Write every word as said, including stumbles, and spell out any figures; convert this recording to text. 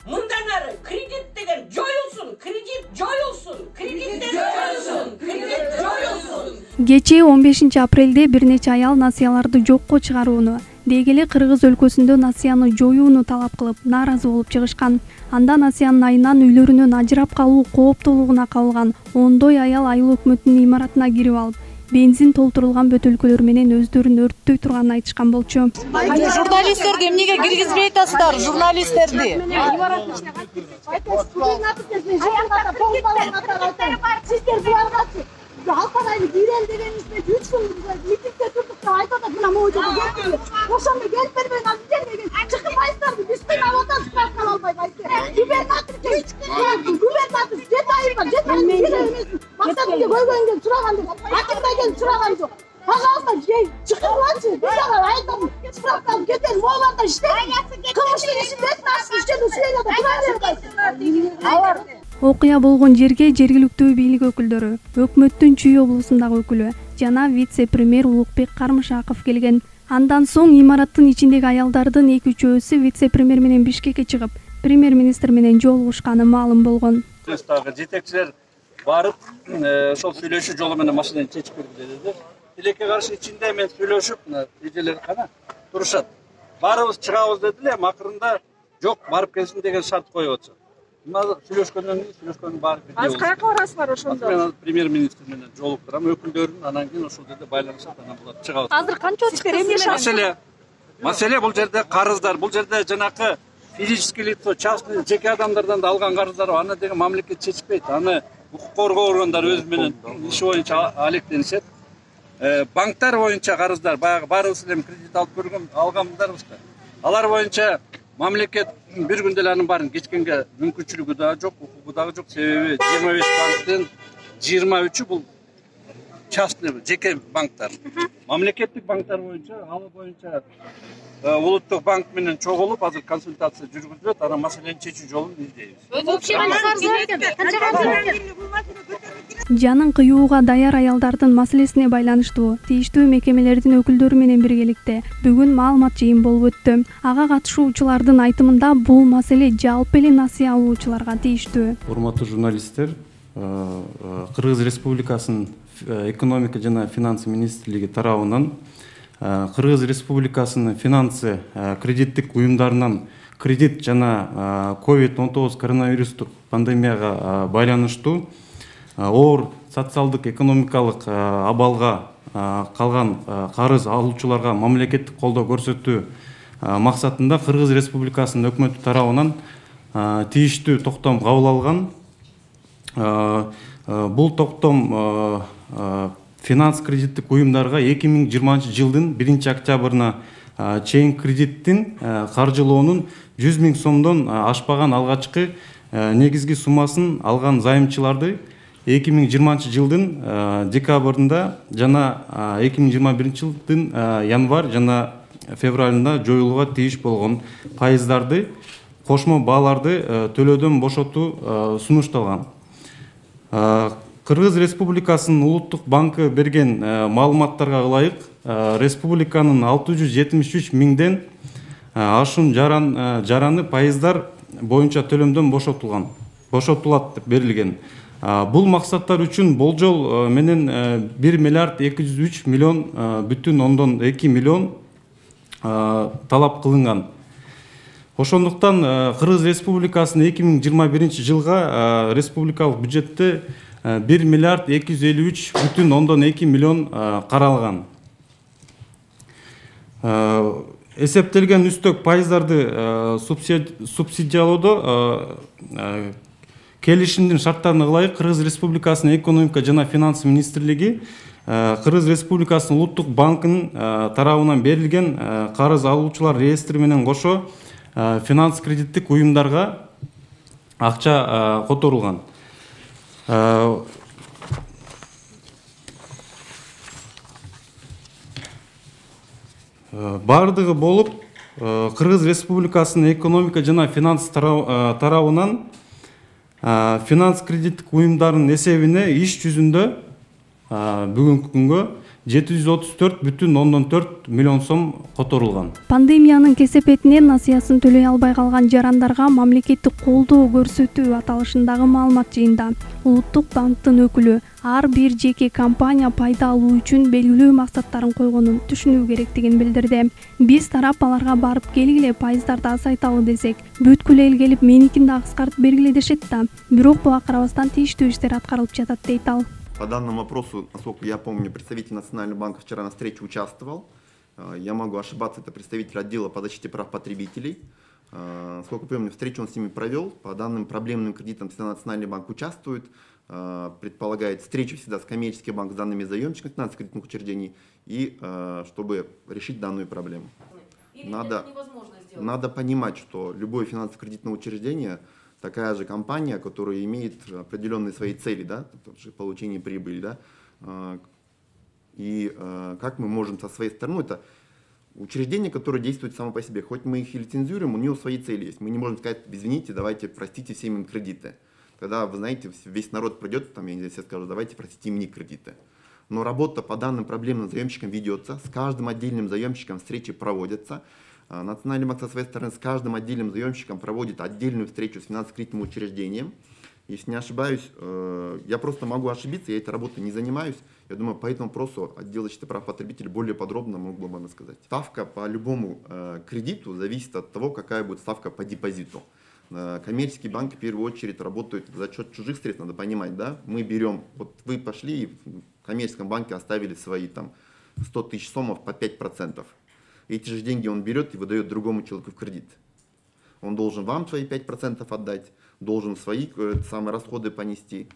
Мындан ары кредит деген жоюлсун, кредит жоюлсун, кредит жоюлсун, кредит жоюлсун. Кечээ он бешинчи апрелде бир нече аял насыяларды жокко чыгарууну, деги эле Кыргыз өлкөсүндө насыяны жоюуну талап кылып, нааразы болуп чыгышкан. Анда насыянын айынан үйлөрүнөн ажырап калуу кооптуулугуна кабылган ондой аял айыл өкмөтүнүн имаратына кирип алып, бензин толтурулган бөтөлкөлөр менен өздөрүн өрттөй турганын айтышкан болчу. Журналисттерди эмнеге киргизбей атасыздар, журналисттерди? Сиздер буларгачы Алкан айы бирел дегенибизде үч күн митингде турдук деп айтып атат, мына могу жерге келип. Ошондо келип бербей калды деген. Чыкпайсыздарбы? Биз тыйын атабыз, справка албай кайтты. Губернатор келип, губернатор жети ай бар, жети ай бирел эмес. Максатымды көйгөйүн келип сураган жок. Акимда келип сураган жок. Пожалуйста, чыкыргылачы. Биз ага айтам, справка алып кетели. Моуларда иштеп, кылмыштын ишин бетин ачып иштеп, Сирияда тура бербейт. Алар Окуя болгон жерге жергиликтүү бийлик өкүлдөрү, өкмөттүн Чүй облусундагы өкүлү жана вице-премьер Улукбек Кармышаков келген. Андан соң имараттын ичиндеги аялдардын эки үчөөсү вице-премьер менен Бишкекке чыгып, премьер-министр менен жолугушканы маалым болгон. Жетекчилер барып, ошол сүйлөшүү жолу менен маселени чечип берди деди. Тилекке каршы ичинде мен сүйлөшүп, эжелер кана турушат. Барыбыз чыгабыз дедилер, акырында жок, барып келсин деген шарт коюп атышат. Сүйлөшкөндөн кийин сүйлөшкөндүн баары бирдей болду. Азыр каяка барасыздар ошондо? Мен премьер-министр менен жолуктурам, өкүлдөрүн, анан кийин ошол жерде байланышат, анан булар чыгабыз. Азыр канча сиздер эмне маселе? Маселе бул жерде карыздар, бул жерде жанакы физический лицо, частный жеке адамдардан да алган карыздар бар. Аны деген мамлекет чечпейт. Аны укук коргоо органдары өзү менен иши боюнча алектенишет. Банктар боюнча карыздар, баягы баарыбыз эле кредит алып көргөн алгандарбызбы? Алар боюнча мамлекет бир күндө эле анын баарын кечкенге мүмкүнчүлүгү да жок, укугу дагы жок. Себеби жыйырма беш банктын жыйырма үчү бул частный жеке банктар. Мамлекеттик банктар боюнча, ал боюнча улуттук банк менен чогулуп, азыр консультация жүргүзүлөт, анан маселени чечүү жолун издейбиз. Жанын кыюуга даяр аялдардын маселесине байланыштуу тийиштүү мекемелердин өкүлдөрү менен биргеликте бүгүн маалымат жыйын болуп өттү. Ага катышуучулардын айтымында бул маселе жалпы эле насыя алуучуларга тийиштүү. Урматтуу журналисттер, Кыргыз Республикасынын экономика жана финансы министрлиги тарабынан Кыргыз Республикасынын финансы кредиттик уюмдарынан кредит жана ковид он тогуз коронавирустук пандемияга байланыштуу оор социалдык экономикалык абалга калган карыз алуучуларга мамлекеттик колдоо көрсөтүү максатында Кыргыз Республикасынын өкмөтү тарабынан тийиштүү токтом кабыл алган. Бул токтом финанс кредиттик уюмдарга эки миң жыйырманчы жылдын биринчи октябрына чейин кредиттин каржылоонун жүз миң сомдон ашпаган алгачкы негизги суммасын алган займчыларды эки миң жыйырманчы жылдын декабрында жана эки миң жыйырма биринчи жылдын январь жана февралында жоюлууга тийиш болгон пайыздарды кошмо бааларды төлөөдөн бошотуу сунушталган. Кыргыз Республикасынын улуттук банкы берген маалыматтарга ылайык, республиканын алты жүз жетимиш үч миңден ашуун жараны пайыздар боюнча төлөмдөн бошотулган, бошотулат деп берилген. Бул максаттар үчүн болжол менен бир миллиард эки жүз үч миллион бүтүн ондон эки миллион талап кылынган. Ошондуктан Кыргыз Республикасынын эки миң жыйырма биринчи жылга республикалык бюджетте бир миллиард эки жүз элүү үч бүтүн ондон эки миллион каралган. Эсептелген үстөк пайыздарды субсидиялоодо келишимдин шарттарына ылайык Кыргыз Республикасынын экономика жана финансы министрлиги Кыргыз Республикасынын улуттук банкынын тарабынан берилген карыз алуучулар реестри менен кошо финанс кредиттик уюмдарга акча которулган. Бардыгы болуп Кыргыз Республикасынын экономика жана финанс тарабынан финанс кредиттик уюмдардын эсебине иш жүзүндө бүгүнкү күнгө жети жүз отуз төрт бүтүн ондон төрт миллион сом которулган. Пандемиянын кесепетинен насыясын төлөй албай калган жарандарга мамлекеттик колдоо көрсөтүү аталышындагы маалымат жыйында Улуттук банктын өкүлү ар бир жеке компания пайда алуу үчүн белгилүү максаттарын койгонун түшүнүү керектигин билдирди. Биз тарап аларга барып келгиле пайыздарды азайталы десек, бүткүл эл келип меникин да кыскартып бергиле дешет да. Бирок буга карабастан тийиштүү иштер аткарылып жатат дейт ал. По данному вопросу, насколько я помню, представитель Национального банка вчера на встрече участвовал. Я могу ошибаться, это представитель отдела по защите прав потребителей. Насколько помню, встречу он с ними провел. По данным проблемным кредитам всегда Национальный банк участвует. Предполагает встречу всегда с коммерческим банком, с данными заемщиками финансово-кредитных учреждений, и чтобы решить данную проблему. Надо, надо понимать, что любое финансово-кредитное учреждение такая же компания, которая имеет определенные свои цели, да, получение прибыли, да, и как мы можем со своей стороны, это учреждение, которое действует само по себе, хоть мы их и лицензируем, у него свои цели есть, мы не можем сказать, извините, давайте простите всем им кредиты, тогда, вы знаете, весь народ придет, там, я не знаю, все скажут, давайте простите им не кредиты. Но работа по данным проблемным заемщикам ведется, с каждым отдельным заемщиком встречи проводятся. Национальный банк со своей стороны с каждым отдельным заемщиком проводит отдельную встречу с финансово-кредитным учреждением. Если не ошибаюсь, я просто могу ошибиться, я этой работой не занимаюсь. Я думаю, по этому вопросу отдел защиты прав потребителей более подробно мог бы вам рассказать. Ставка по любому кредиту зависит от того, какая будет ставка по депозиту. Коммерческие банки в первую очередь работают за счет чужих средств, надо понимать, да? Мы берем, вот вы пошли и в коммерческом банке оставили свои там сто тысяч сомов по пять процентов. Эти же деньги он берет и выдает другому человеку в кредит. Он должен вам свои пять процентов отдать, должен свои самые расходы понести.